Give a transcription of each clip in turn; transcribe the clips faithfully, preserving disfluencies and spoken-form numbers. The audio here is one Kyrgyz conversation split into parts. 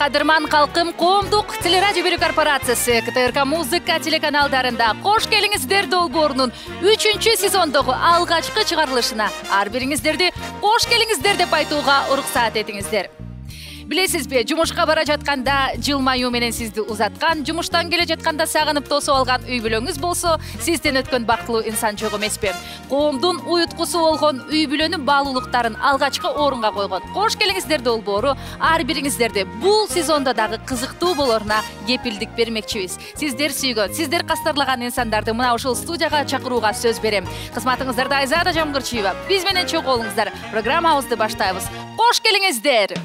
Кадырман калкым, коомдук телерадио берүү корпорациясы КТРК музыка телеканалдарында кош келиңиздер долбоорунун үчүнчү сезондогу алгачкы чыгарылышына ар бириңиздерди кош келиңиздер деп айтууга уруксаат этиңиздер. Билесизби, жумушка бара жатканда жылмаюу менен сизди узаткан, жумуштан келе жатканда сагынып тосуп алган үй бүлөңүз болсо, сизден өткөн бактылуу инсан жок эмеспи? Коомдун уюткусу болгон үй бүлөнүн баалуулуктарын алгачкы орунга койгон кош келиңиздер долбоору ар бириңиздерди бул сезондо дагы кызыктуу болоруна кепилдик бермекчибиз. Сиздер сүйгөн, сиздер кастарлаган инсандарды мына ушул студияга чакырууга сөз берем. Кызматыңыздарда Айзада Жамгырчиева. Биз менен чогуу болуңуздар. Программабызды баштайбыз. Кош келиңиздер.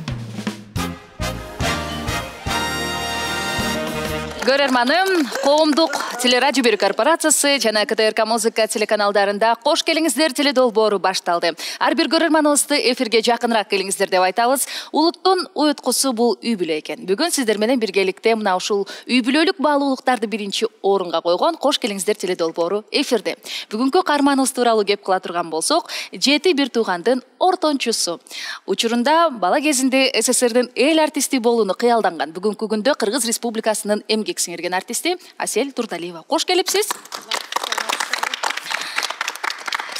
Көрөрманым, коомдук телерадио берүү корпорациясы жана КТРК музыка телеканалдарында кош келиңиздер теледолбоору башталды. Ар бир көрөрманыбызды эфирге жакыныраак келиңиздер деп айтабыз. Улуттун уюткусу бул үй бүлө экен. Бүгүн сиздер менен биргеликте мына ушул үй бүлөлүк баалуулуктарды биринчи орунга койгон кош келиңиздер теледолбоору эфирде. Бүгүнкү каарманыбыз тууралуу кеп кыла турган болсок, жети бир туугандын ортончусу. Учурунда бала кезинде СССРдин эл артисти болууну кыялданган. Бүгүнкү күндө Кыргыз Республикасынын эмгек сиңирген артисти Асель Турдалиева. Кош келипсиз.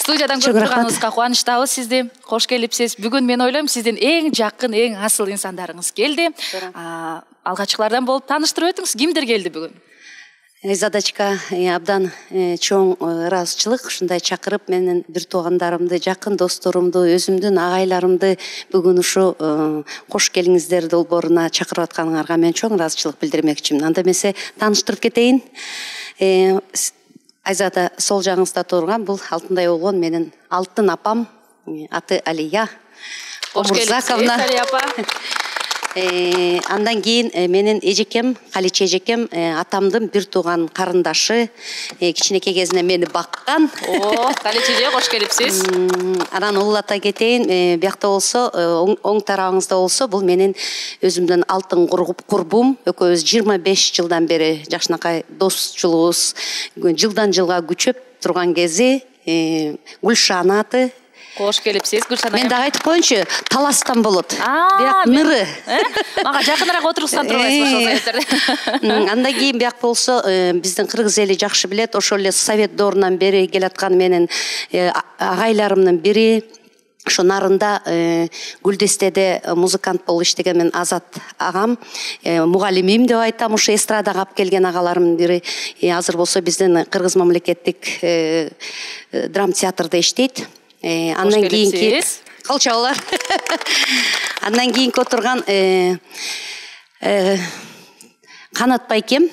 Студиядан көрүп турганыбызга кубанычтабыз сизди. Кош келипсиз. Бүгүн мен ойлойм, сиздин эң жакын, эң асыл инсандарыңыз келди. Алгачкылардан болуп тааныштырып өтүңүз. Кимдер келди бүгүн? Задачка абдан чоң ыраазычылык, ушундай чакырып менин бир туугандарымды, жакын досторумду, өзүмдүн агайларымды бүгүн ушу кош келиңиздер долбооруна чакырып атканыңарга мен чоң ыраазычылык билдирмекчимин. Анда эмесе тааныштырып кетейин. Айзада сол жагыңызда турган бул алтындай болгон менин алтын апам, аты Алия Омурзаковна. Алия апа. Андан кийин менин эжекем, Каличе эжекем, атамдын бир тууган карындашы, кичинекей кезинен мени баккан. О, Каличеже кош келипсиз. Анан улуулата кетейин, биякта болсо, оң тарабыңызда болсо, бул менин өзүмдүн алтын курбум. Экөөбүз жыйырма беш жылдан бери жакшынакай досчулугубуз жылдан жылга күчөп турган кези, Гүлшана аты. Кош келипсиз, Гүлшана. Мен дагы айтып коеюнчу, таластан болот. Бияк ныры. Мага жакыныраак отургузсан турбайсызбы ошол себептерден. Андан кийин бияк болсо, биздин кыргыз эли жакшы билет, ошол эле Совет доорунан бери келаткан менин агайларымдын бири. Ошо нарында Гүлдестеде музыкант болуп иштеген мен Азат агам, мугалимим деп айтам, ушу эстрадага алып келген агаларымдын бири. Азыр болсо биздин Кыргыз мамлекеттик драм театрда иштейт. Андан кийинки калчабалар. Андан кийинки отурган Канат байкем,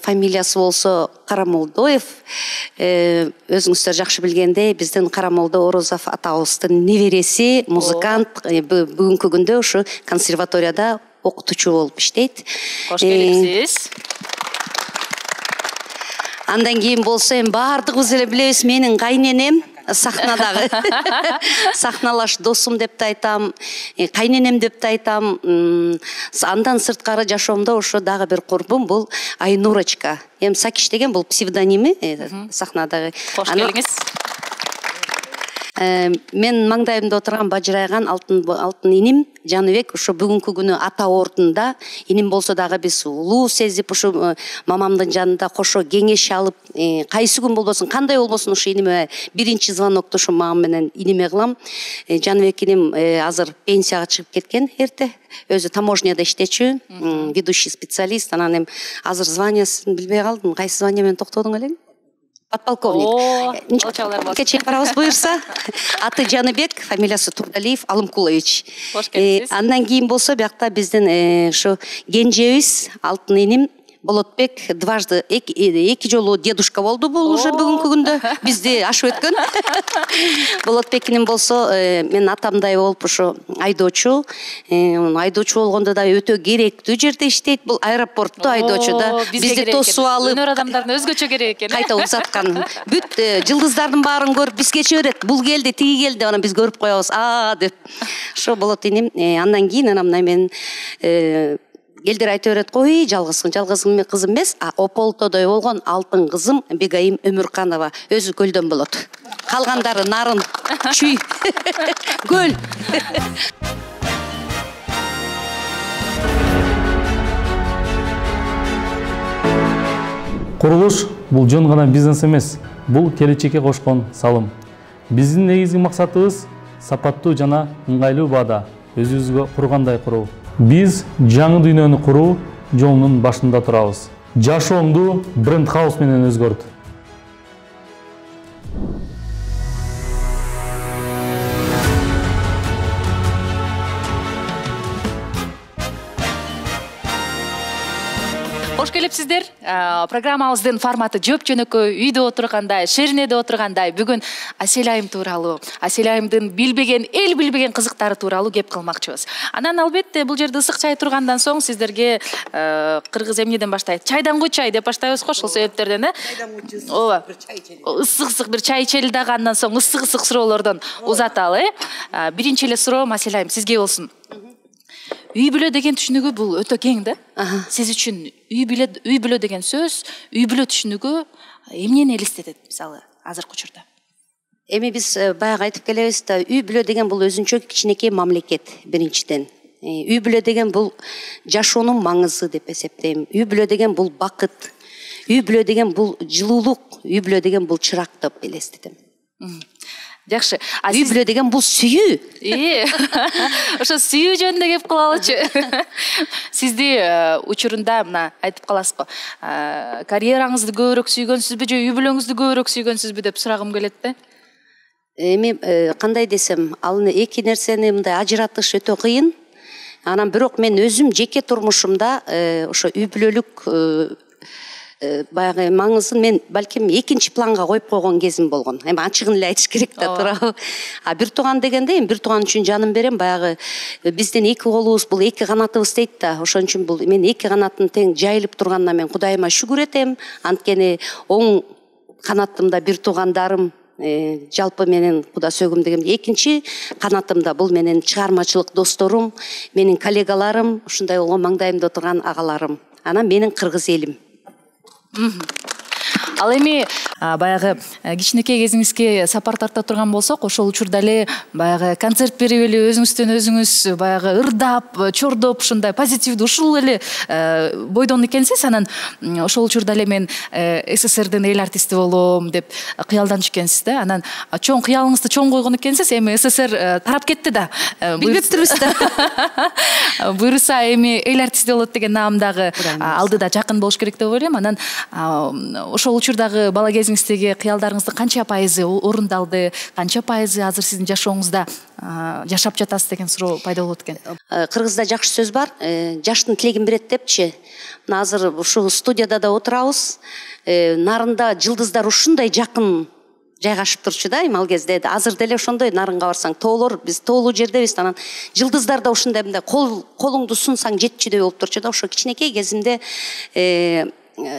фамилиясы болсо Карамолдоев. Өзүңүздөр жакшы билгендей, биздин Карамолдо Орозов атабыздын небереси, музыкант, бүгүнкү күндө ушу консерваторияда окутуучу болуп иштейт. Кош келипсиз. Андан кийин болсо эми баардыгыбыз эле билебиз, менин кайненем сахнадагы сахналаш досум деп да айтам, кайненем деп да айтам. Андан сырткары жашоомдо ошо дагы бир курбум, бул Айнурочка. Эми Сакиш деген бул псевдоними сахнадагы. Кош келиңиз. Мен маңдайымда отурган бажырайган алтын алтын иним Жаныбек ошо бүгүнкү күнү ата ордунда. Иним болсо дагы биз улуу сезип ушу мамамдын жанында кошо кеңеш алып, кайсы күн болбосун, кандай болбосун ушу иниме биринчи звонокту ушу мамам менен иниме кылам. Жаныбек иним азыр пенсияга чыгып кеткен эрте. Өзү таможняда иштечү, ведущий специалист. Анан эми азыр званиясын билбей калдым. Кайсы звания менен токтодуң элең? Подполковник. Кечээ барабыз буюрса. Аты Жаныбек, фамилиясы Турдалиев Алымкулович. Андан кийин болсо биякта биздин ушу кенжебиз алтын иним Болотбек дважды эки жолу дедушка болду, бул уже бүгүнкү күндө бизди ашып өткөн. Болотбек иним болсо мен атамдай болуп ушу айдоочу, айдоочу болгондо да өтө керектүү жерде иштейт. Бул аэропортто айдоочу да бизди тосуп алып, өнөр адамдардын өзгөчө керек экен. Кайта узаткан. Бүт жылдыздардын баарын көрүп бизге берет. Бул келди, тиги келди, анан биз көрүп коебуз. А деп. Ошо болот иним. Андан кийин анан мен элдер айта берет, ой, жалгызсың, жалгыз кызым эмес, а ополтодой болгон алтын кызым Бегайым Өмүрканова өзү көлдөн болот. Калгандары нарын, чүй, көл. Курулуш бул жөн гана бизнес эмес, бул келечекке кошкон салым. Биздин негизги максатыбыз сапаттуу жана ыңгайлуу баада өзүбүзгө кургандай куруу. Биз жаңы дүйнөнү куруу жолунун башында турабыз. Жашоомду бренд хаус менен өзгөрт. Кош келипсиздер. Программабыздын форматы жөп жөнөкөй, үйдө отургандай, шеринеде отургандай бүгүн Асель айым тууралуу, Асель айымдын билбеген, эл билбеген кызыктары тууралуу кеп кылмакчыбыз. Анан албетте бул жерде ысык чай тургандан соң сиздерге кыргыз эмнеден баштайт? Чайдан чай деп баштайбыз го, ошол себептерден, э? Ооба. Ысык-ысык бир чай ичели дагы, андан соң ысык-ысык суроолордон узаталы, э? Биринчи эле суроом Асель айым сизге болсун. Үй бүлө деген түшүнүгү бул өтө кең да. Сиз үчүн үй бүлө үй бүлө деген сөз, үй бүлө түшүнүгү эмнени элестетет, мисалы, азыркы учурда? Эми биз баягы айтып келебиз да, үй бүлө деген бул өзүнчө кичинекей мамлекет биринчиден. Үй бүлө деген бул жашоонун маңызы деп эсептейм. Үй бүлө деген бул бакыт. Үй бүлө деген бул жылуулук. Үй бүлө деген бул чырак деп элестетем. Жакшы. Үй бүлө деген бул сүйүү. Э. Ошо сүйүү жөнүндө кеп кылалычы. Сизди учурунда мына айтып каласыз го. Карьераңызды көбүрөөк сүйгөнсүзбү же үй бүлөңүздү көбүрөөк сүйгөнсүзбү деп сурагым келет да. Эми кандай десем, ал эки нерсени мындай ажыратыш өтө кыйын. Анан бирок мен өзүм жеке турмушумда ошо үй бүлөлүк баягы маңызын мен балким экинчи планга коюп койгон кезим болгон. Эми ачыгын эле айтыш керек да, туурабы. А бир тууган дегенде, эми бир тууган үчүн жаным берем, баягы биздин эки колубуз бул эки канатыбыз дейт да. Ошон үчүн бул мен эки канатын тең жайылып турганына мен Кудайыма шүгүр этем. Анткени оң канатымда бир туугандарым, жалпы менен Куда сөгүм дегенде, экинчи канатымда бул менен чыгармачылык досторум, менин коллегаларым, ушундай болгон маңдайымда отурган агаларым. Анан менин кыргыз элим. Ал эми баягы кичинекей кезиңизге сапар тарта турган болсок, ошол учурда эле баягы концерт берип эле өзүңүздөн өзүңүз баягы ырдап, чордоп, ушундай позитивдүү ушул эле бойдон экенсиз. Анан ошол учурда эле мен СССРдин эл артисти болом деп кыялданчу экенсиз да. Анан чоң кыялыңызды чоң койгон экенсиз. Эми СССР тарап кетти да. Билбептирбиз да. Буюрса эми эл артисти болот деген наам дагы алдыда жакын болуш керек деп ойлойм. Анан ошол учурдагы бала кезиңиздеги кыялдарыңыздын канча пайызы орундалды, канча пайызы азыр сиздин жашооңузда жашап жатасыз деген суроо пайда болот экен. Кыргызда жакшы сөз бар, жаштын тилегин берет депчи. Мына азыр ушул студияда да отурабыз. Нарында жылдыздар ушундай жакын жайгашып турчу да, эми ал кезде. Азыр деле ошондой, нарынга барсаң, тоолор, биз тоолуу жердебиз, анан жылдыздар да ушундай мындай кол колуңду сунсаң жетчүдөй болуп турчу да. Ошо кичинекей кезимде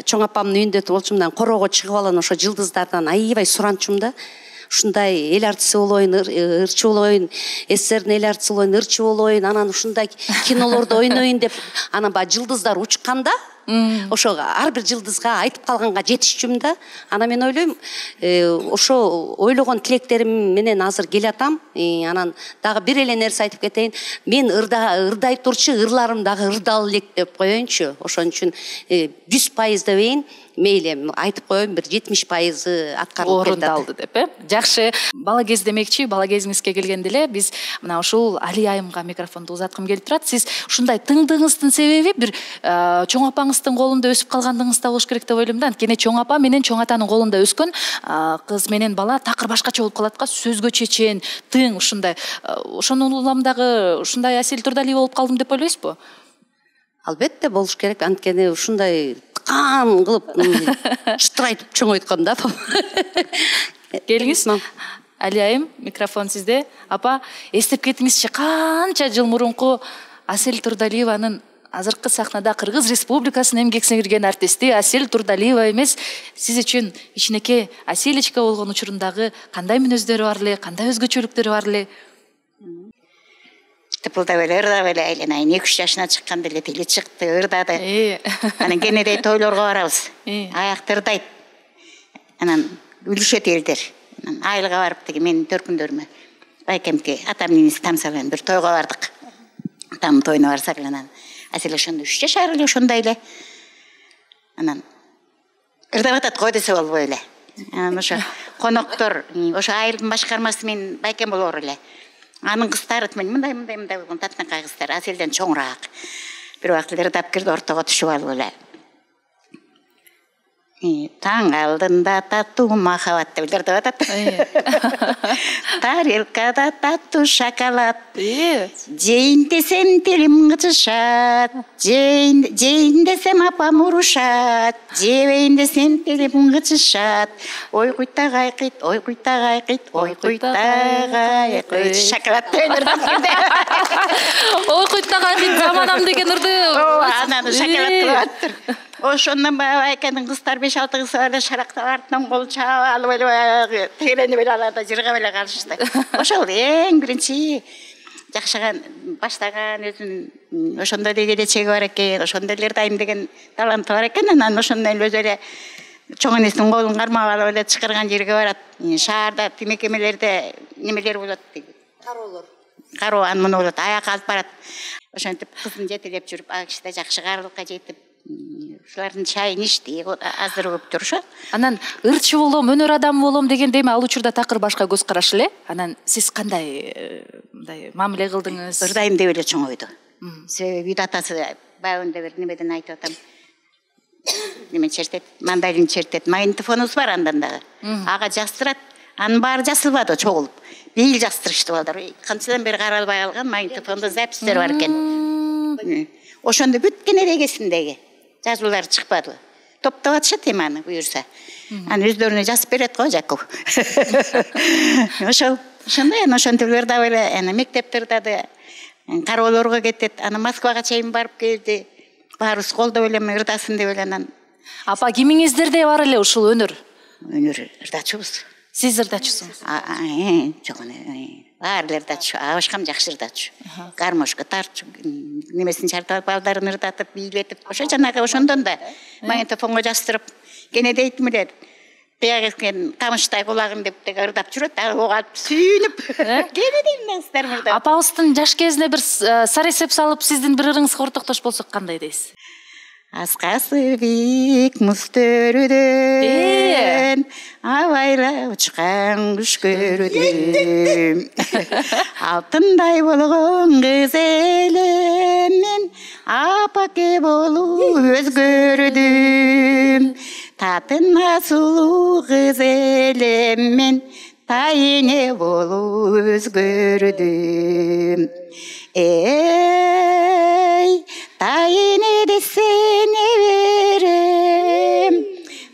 чоң апамдын үйүндө болчумун, мындан короого чыгып алып ошо жылдыздардан аябай суранчумун да. Ушундай эл артисти болоюн, ырчы болоюн, СССРдин эл артисти болоюн, ырчы болоюн, анан ушундай кинолордо ойноюн деп, анан баягы жылдыздар учканда ошо ар бир жылдызга айтып калганга жетишчүмүн да. Анан мен ойлойм, ошо ойлогон тилектерим менен азыр келатам. Анан дагы бир эле нерсе айтып кетейин. Мен ырдай турчу ырларым дагы ырдал элек деп коеюнчу. Ошон үчүн жүз пайыз дебейин, мейли айтып коеюн, бир жетимиш пайызы аткарылып кетти. Орундалды деп, э? Жакшы. Бала кез демекчи, бала кезиңизге келгенде эле биз мына ушул Али айымга микрофонду узаткым келип турат. Сиз ушундай тыңдыгыңыздын себеби бир чоң апаңыздын колунда өсүп калгандыгыңызда болуш керек деп ойлойм да. Анткени чоң апа менен чоң атанын колунда өскөн кыз менен бала такыр башкача болуп калат го, сөзгө чечен, тың ушундай. Ошонун улам дагы ушундай Асель Турдалиева болуп калдым деп ойлойсузбу? Албетте болуш керек, анткени ушундай кан кылып чытырайтып чоңойткон да. Келиңиз. Али айым, микрофон сизде. Апа, эстеп кетиңизчи, канча жыл мурунку Асель Турдалиеванын азыркы сахнада Кыргыз Республикасынын эмгек сиңирген артисти Асель Турдалиева эмес, сиз үчүн кичинекей Аселечка болгон учурундагы кандай мүнөздөрү бар эле, кандай өзгөчөлүктөрү бар эле? Тыпылдап эле, ырдап эле айланайын. эки үч жашына чыкканда эле тили чыкты, ырдады. Анан кенедей тойлорго барабыз. Аякты ырдайт. Анан үлүшөт элдер. Анан айылга барып деги менин төркүндөрүмө байкемке атам нениси тамсалган бир тойго бардык. Атамдын тоюна барсак анан Асель ошондо үч жашар эле, ошондой эле. Анан ырдап атат го десе болбой эле. Анан ошо коноктор ошо айылдын башкармасы менен байкем болор эле. Анын кыздары мындай мындай мындай болгон татынакай кыздар, Аселден чоңураак. Бир убакыт ырдап кирди, ортого түшүп алып эле. Таң алдында таттуу махаббат деп ырдап атат. Тарелкада таттуу шоколад. Жейин десем тилим кычышат. Жейин десем апам урушат. Жебейин десем тилим кычышат. Ой куйтагай кыйт, ой куйтагай кыйт, ой куйтагай кыйт. Шоколад деп ырдап кирди. Ой куйтагай кыйт заманам деген ырды. Анан шоколад кылып аттыр. Ошондон баягы экенин кыздар беш алты кыз эле шарактап артынан кол чаап алып эле баягы тегеренип эле аларда жыргап эле калышты. Ошол эң биринчи жакшыган баштаган өзүнүн ошондой эле келечеги бар экен, ошондой эле ырдайм деген таланты бар экен. Анан ошондой эле өзү эле чоң энесинин колун кармап алып эле чакырган жерге барат. Шаарда тимекемелерде немелер болот дейт. Кароолор. Кароо аны болот, аякка алып барат. Ошентип кызын жетелеп жүрүп, а киши да жакшы карылыкка жетип ушулардын чайын ичти, азыр көптүр ошо. Анан ырчы болом, өнөр адамы болом дегенде эми ал учурда такыр башка көз караш эле. Анан сиз кандай мындай мамиле кылдыңыз? Ырдайм деп эле чоңойду. Себеби үйдө атасы баягында бир немеден айтып атам. Неме чертет, мандалин чертет, магнитофонубуз бар андан дагы. Ага жаздырат, анын баары жазылбады чогулуп. Бейил жаздырышты балдар. Канчадан бери каралбай калган магнитофондо запистер бар экен. Ошондо бүт кенерегесиндеги жазуулар чыкпады. Топтоп атышат эми аны буюрса. Аны өздөрүнө жазып берет го Жаков. Ошол ошондой ошентип ырдап эле аны мектепте ырдады. Кароолорго кетет. Аны Москвага чейин барып келди. Баарыбыз колдоп эле ырдасын деп эле анан. Апа кимиңиздерде бар эле ушул өнөр? Өнөр ырдачубуз. Сиз ырдачусуңуз? Жок, баары ырдачу, абашкам жакшы ырдачу. Гармошко тартчу, немесин чартап балдарын ырдатып, бийлетип, ошо жанагы ошондон да магнитофонго жаздырып, кене дейтим эле. Биягы тамыштай кулагын деп теге ырдап жүрөт, ага алып сүйүнүп. Кене дейм кыздар ырдап. Апабыздын жаш кезинде бир саресеп салып, сиздин бир ырыңызга ортоктош болсок кандай дейсиз? Аскасы бик мустөрүдөн абайла учкан куш көрдүм. Алтындай болгон кыз элем мен апаке болуп өзгөрдүм. Татына сулуу кыз элем мен тайыне болуп өзгөрдүм. Эй, тайыне десене берем,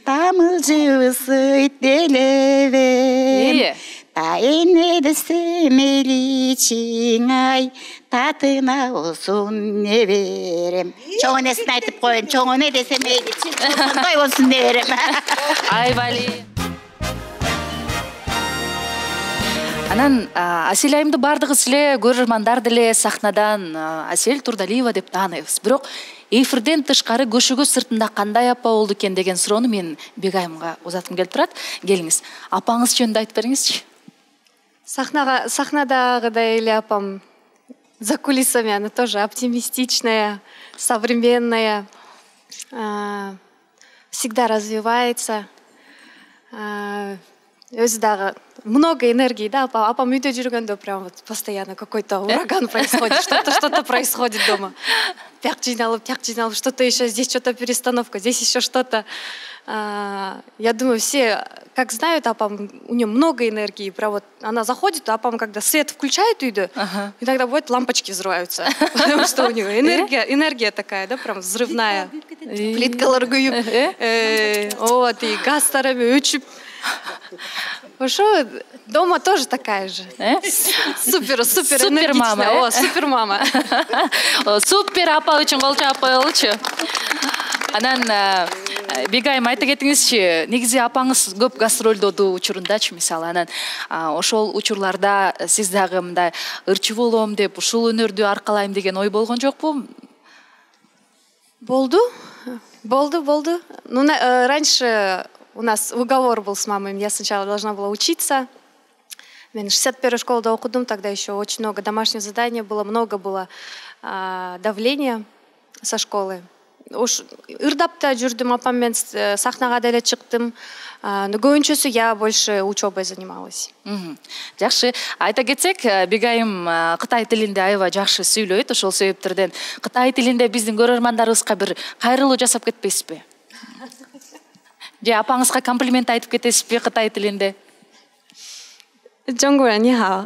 тамылжыбы сыйт делебем. Тайыне десе мейличиң ай, татына болсун не берем. Чоң энесин айтып коеюн, чоң эне десе мейличиң ошондой болсун не берем. Ай бали. Анан Асель айымды бардыгыбыз эле көрөрмандар деле сахнадан Асель Турдалиева деп тааныйбыз. Бирок эфирден тышкары көшөгө сыртында кандай апа болду экен деген суроону мен Бек айымга узаткым келип турат. Келиңиз, апаңыз жөнүндө айтып бериңизчи. Сахнага сахнадагыдай эле апам за кулисами она тоже оптимистичная, современная, всегда развивается. Өзү дагы много энергии, да, апа. Апам үйдө жүргөндө прям вот постоянно какой-то ураган происходит, что-то что-то происходит дома. Пяк жиналып, пяк жиналып, что-то еще, здесь что-то перестановка, здесь еще что-то. Я думаю, все, как знают, апам, у нее много энергии. Прям вот она заходит, а апам, когда свет включает үйдө, иногда бывает лампочки взрываются, потому что у нее энергия, энергия такая, да, прям взрывная. Плиткалар күйүп, вот, и газтарами өчүп. Ошо дома тоже такая же. Супер, супер, супер мама. О, супер мама. Супер апа үчүн кол чаап коелучу. Анан Бек айым айта кетиңизчи, негизи апаңыз көп гастролдоду учурундачы, мисалы, анан ошол учурларда сиз дагы мындай ырчы болом деп, ушул өнөрдү аркалайм деген ой болгон жокпу? Болду, болду, болду. Ну, раньше у нас уговор был с мамой, я сначала должна была учиться. Мен шестьдесят первой школе окудум, тогда еще очень много домашних заданий было, много было а, давления со школы. уш ырдап да жүрдүм, апам менен сахнага деле чыктым. Но көбүнчөсү я больше учебой занималась. Жакшы. Айта кетсек, Бегайым Кытай тилинде аябай жакшы сүйлөйт. Ошол себептерден Кытай тилинде биздин көрөрмандарыбызга бир кайрылуу жасап кетпейсизби? Же апаңызга комплимент айтып кетесизби Кытай тилинде? 中国人你好，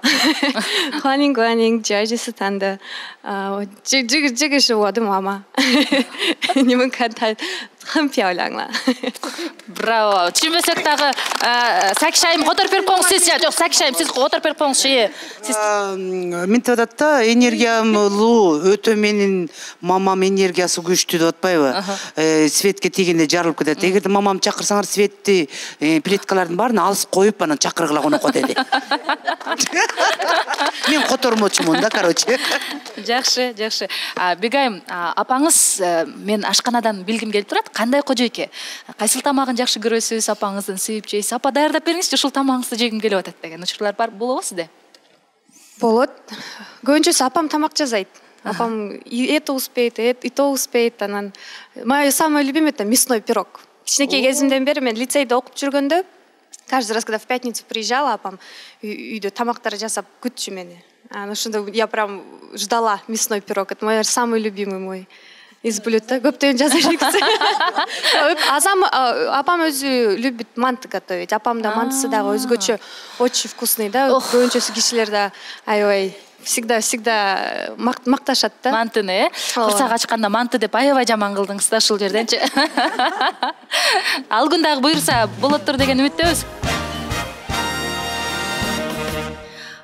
欢迎光临吉尔吉斯坦的，啊，我这这个这个是我的妈妈，你们看她很漂亮了。Браво. Түшүнбөсөк дагы Сакиш айым которуп берип коюңуз сиз. Жок, Сакиш айым сиз которуп берип коюңузчу. Сиз мынтип атат да, энергиялуу өтө менин мамам энергиясы күчтүү деп атпайбы? Светке тийгенде жарылып кетет. Эгерде мамам чакырсаңар светти, плиткалардын баарын алып коюп анан чакыргыла конокко деди. Мен котормочумун да, короче. Жакшы, жакшы. Бегайым, апаңыз мен ашканадан билгим келип турат. Кандай кожойке? Кайсыл тамагын жакшы көрөсүз, апаңыздын сүйүп жейсиз? Апа даярдап бериңизчи, ушул тамагыңызды жегим келип атат деген учурлар бар болобу сизде? Болот. Көбүнчөсү апам тамак жасайт. Апам это успеет, и то успеет. Анан мое самое любимое это мясной пирог. Кичинекей кезимден бери мен лицейде окуп жүргөндө, каждый раз, когда в пятницу приезжала, апам үйдө тамактар жасап күтчү мени. Анан ошондо я прям ждала мясной пирог. Это мой самый любимый мой из блюд. Көптөн жасайт. Азам апам өзү любит манты готовить. Апам да мантысы дагы өзгөчө очень вкусный, да. Көбүнчөсү кишилер да аябай всегда-всегда макташат да. Мантыны, курсак ачканда манты деп аябай жаман кылдыңыз да ушул жерденчи. Ал күн дагы буйрса болоттур деген үмүттөбүз.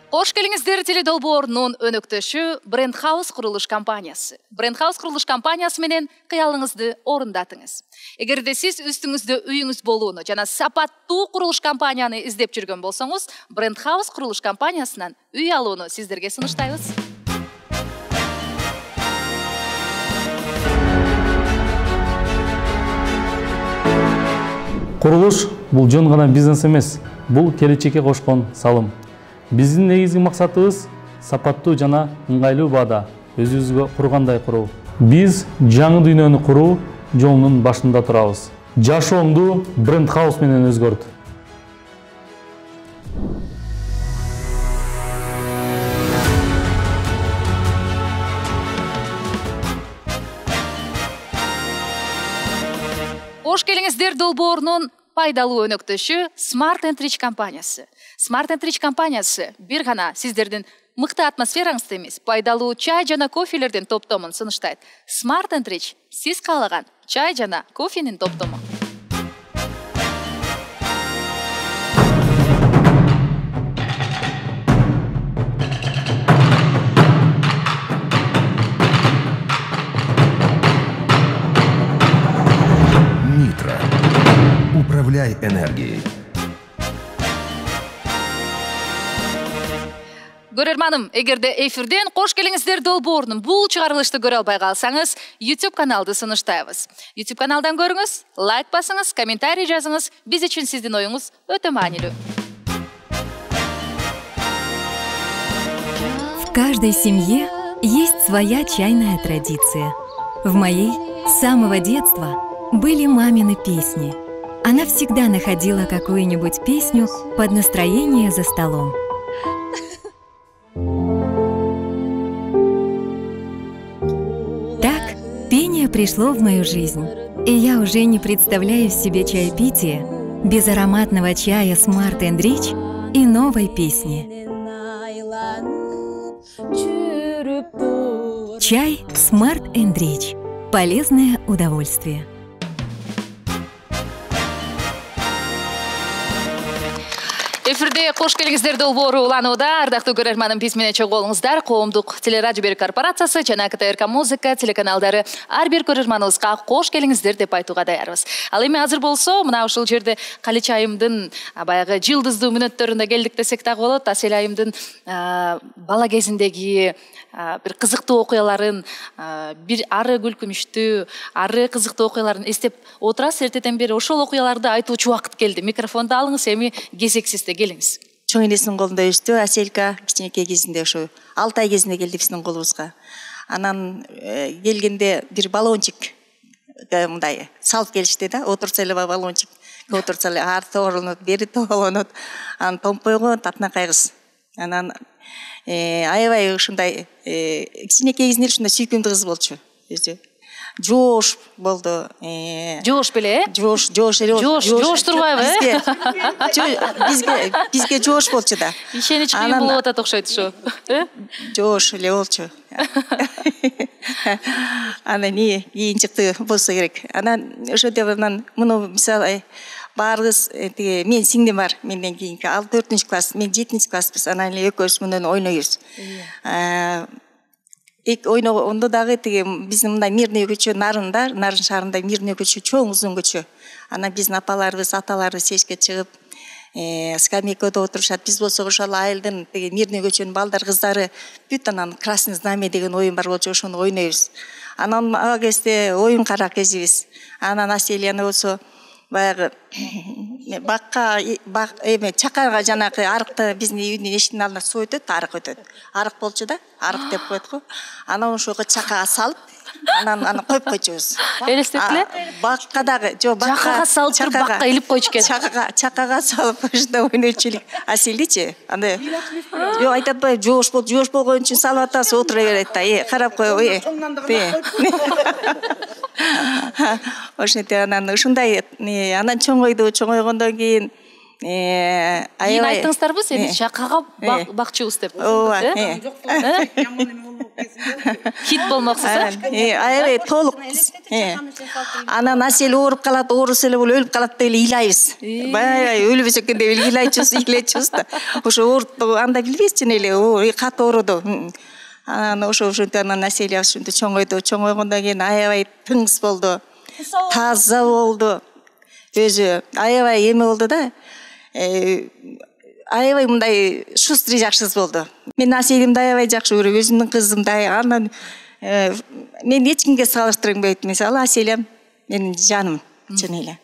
Кош келиңиздер теледолбоорунун өнөктөшү Бренд Хаус курулуш компаниясы. Бренд Хаус курулуш компаниясы менен кыялыңызды орундатыңыз. Эгерде сиз үстүңүздө үйүңүз болууну жана сапаттуу курулуш компанияны издеп жүргөн болсоңуз, Бренд Хаус курулуш компаниясынан үй алууну сиздерге сунуштайбыз. Курулуш бул жөн гана бизнес эмес, бул келечекке кошкон салым. Биздин негизги максатыбыз сапаттуу жана ыңгайлуу баада өзүбүзгө кургандай куруу. Биз жаңы дүйнөнү куруу жолунун башында турабыз. Жашоомду Бренд Хаус менен өзгөрт. Кош келиңиздер долбоорунун пайдалуу өнөктөшү Smart and Rich компаниясы. Smart and Rich компаниясы бир гана сиздердин мыкты атмосфераңызды эмес, пайдалуу чай жана кофелердин топтомун сунуштайт. Smart and Rich сиз каалаган чай жана кофенин топтому. Нитро. Управляй энергией. Көрөрманым, эгерде эфирден кош келиңиздер долбоорунун бул чыгарылышты көрө албай калсаңыз, YouTube каналды сунуштайбыз. YouTube каналдан көрүңүз, лайк басыңыз, комментарий жазыңыз. Биз үчүн сиздин оюңуз өтө маанилүү. В каждой семье есть своя чайная традиция. В моей с самого детства были мамины песни. Она всегда находила какую-нибудь песню под настроение за столом. Так пение пришло в мою жизнь, и я уже не представляю себе чаепитие без ароматного чая Smart and Rich и новой песни. Чай Smart and Rich. Полезное удовольствие. Эфирде кош келиңиздер долбоору уланууда. Ардактуу көрөрманым, биз менен чогуу болуңуздар. Коомдук телерадио берүү корпорациясы жана КТРК музыка телеканалдары ар бир көрөрманыбызга кош келиңиздер деп айтууга даярбыз. Ал эми азыр болсо, мына ушул жерде Калич айымдын баягы жылдыздуу мүнөттөрүндө келдик десек дагы болот. Асел айымдын бала кезиндеги бир кызыктуу окуяларын, бир ары күлкүнүчтүү, ары кызыктуу окуяларын эстеп отурасыз. Эртеден бери ошол окуяларды айтуучу убакыт келди. Микрофонду алыңыз, эми кезексизде келиңиз. Чоң энесинин колунда өстү, Аселка кичинекей кезинде ошо алты ай кезинде келди биздин колубузга. Анан келгенде бир баллончик мындай салып келишти да, отурса эле баллончик, отурса эле ары тоолонот, бери тоолонот. Анан томпойго татынакай кыз. Анан аябай ушундай кичинекей кезинде ушундай сүйкүмдүү кыз болчу. Өзү жоош болду. Жоош беле, э? Жоош, жоош эле. Жоош, жоош турбайбы, э? Бизге, бизге жоош болчу да. Ишенич кыйын болуп атат окшойт ушу. Жоош эле болчу. Анан не, кийинчикти болсо керек. Анан ошондо анан муну мисалы баарыбыз тиги мен сиңдим бар, менден кийинки ал төртүнчү класс, мен жетинчи класспыз. Анан эле экөөбүз менен ойнойбуз. Эк ойногондо дагы тиги биздин мындай мирный көчө нарында, Нарын шаарында мирный көчө, чоң узун көчө. Анан биздин апаларыбыз, аталарыбыз эшикке чыгып, скамейкада отурушат. Биз болсо ошол айылдын тиги мирный көчөнүн балдар, кыздары бүт анан красный знамя деген оюн бар болчу, ошону ойнойбуз. Анан ага кезде оюн кара кезибиз. Анан Аселияны болсо баягы бакка эме чакарга жанагы арыкты биздин үйдүн эшигинин алдына суу өтөт, арык өтөт. Арык болчу да, арык деп коет го. Анан ошого чакага салып, анан аны коюп койчубуз. Элестетиле? Бакка дагы, жок, бакка. Чакага салып туруп бакка илип койчу экен. Чакага, чакага салып ушундай ойночу элек. Аселичи, анда жок айтып атпайбы, жоош бол, жоош болгон үчүн салып атасыз, отура берет да. Э, карап кой, э. Ошентип анан ушундай анан чоңойду, чоңойгондон кийин Кийин айттыңыздарбы, сени чакага бакчыбыз деп. Ооба. Кит болмоксуз, э? Аябай толук. Анан Асел ооруп калат, оорусу эле болуп өлүп калат деп эле ыйлайбыз. Баягы өлбөс экен деп эле ыйлайчубуз, ыйлайчубуз да. Ошо ооруп анда билбейсиз эле, катуу ооруду. Анан ошо ошентип анан Аселия ушинтип чоңойду, чоңойгондон кийин аябай тыңыз болду. Таза болду. Өзү аябай эме болду да. Аябай мындай шустрый жакшы кыз болду. Мен Аселимди аябай жакшы көрөм, өзүмдүн кызымдай. Анан мен эч кимге салыштырбайт. Мисалы Аселиям менин жаным, чын эле.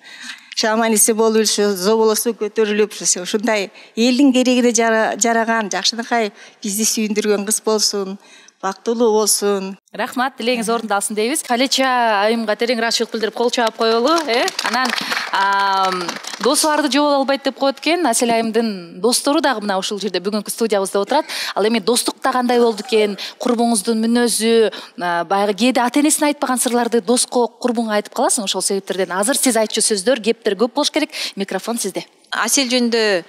Шаман эсе болуп, зоболосу көтөрүлүп, ушундай элдин керегине жараган, жакшынакай бизди сүйүндүргөн кыз болсун, бактылуу болсун. Рахмат, тилегиңиз орундалсын дейбиз. Калеча айымга терең ыраазычылык билдирип кол чаап коелу, э? Анан досу барды жобо албайт деп коет экен. Асел айымдын достору дагы мына ушул жерде бүгүнкү студиябызда отурат. Ал эми достукта кандай болду экен? Курбуңуздун мүнөзү, баягы кээде ата энесине айтпаган сырларды доско, курбуңа айтып каласың, ошол себептерден азыр сиз айтчу сөздөр, кептер көп болуш керек. Микрофон сизде. Асел жөнүндө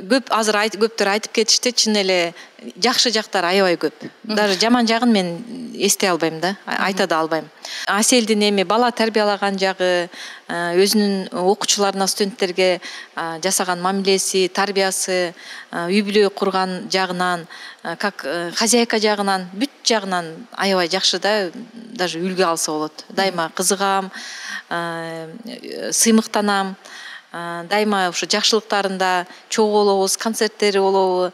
көп азыр көптөр айтып кетишти, чын эле жакшы жактары аябай көп. Даже жаман жагын мен эстей албайм да, айта да албайм. Аселдин эми бала тарбиялаган жагы, өзүнүн окуучуларына, студенттерге жасаган мамилеси, тарбиясы, үй бүлө курган жагынан, как хозяйка жагынан, бүт жагынан аябай жакшы да, даже үлгү алса болот. Дайыма кызыгам, сыймыктанам. Дайыма ушу жакшылыктарында чогуу болобуз, концерттери болобу,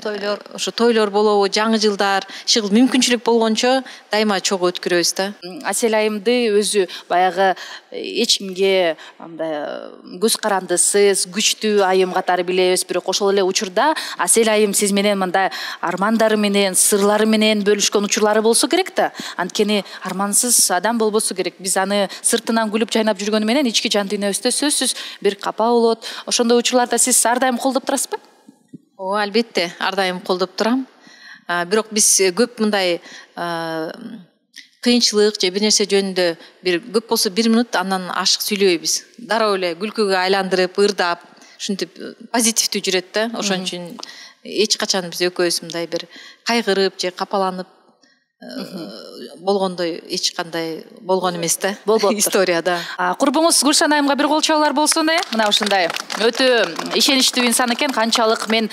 тойлор, ушу тойлор болобу, жаңы жылдар, шыгыл мүмкүнчүлүк болгончо дайыма чогуу өткөрөбүз да. Асел айымды өзү баягы эч кимге андай көз карандысыз, күчтүү айым катары билебиз, бирок ошол эле учурда Асел айым сиз менен мындай армандары менен, сырлары менен бөлүшкөн учурлары болсо керек да. Анткени армансыз адам болбосо керек. Биз аны сыртынан күлүп жайнап жүргөнү менен ички жан дүйнөбүздө сөзсүз бир капа болот. Ошондой учурларда сиз ар дайым колдоп турасызбы? Ооба, албетте, ар дайым колдоп турам. Бирок биз көп мындай кыйынчылык же бир нерсе жөнүндө бир көп болсо бир минут андан ашык сүйлөбөйбүз. Дароо эле күлкүгө айландырып, ырдап, ушинтип позитивдүү жүрөт да. Ошон үчүн эч качан биз экөөбүз мындай бир кайгырып же капаланып болгондой эч кандай болгон эмес да. Историяда. Курбуңуз Гүлшан айымга бир кол чабуулар болсун, э? Мына ушундай өтө ишеничтүү инсан экен. Канчалык мен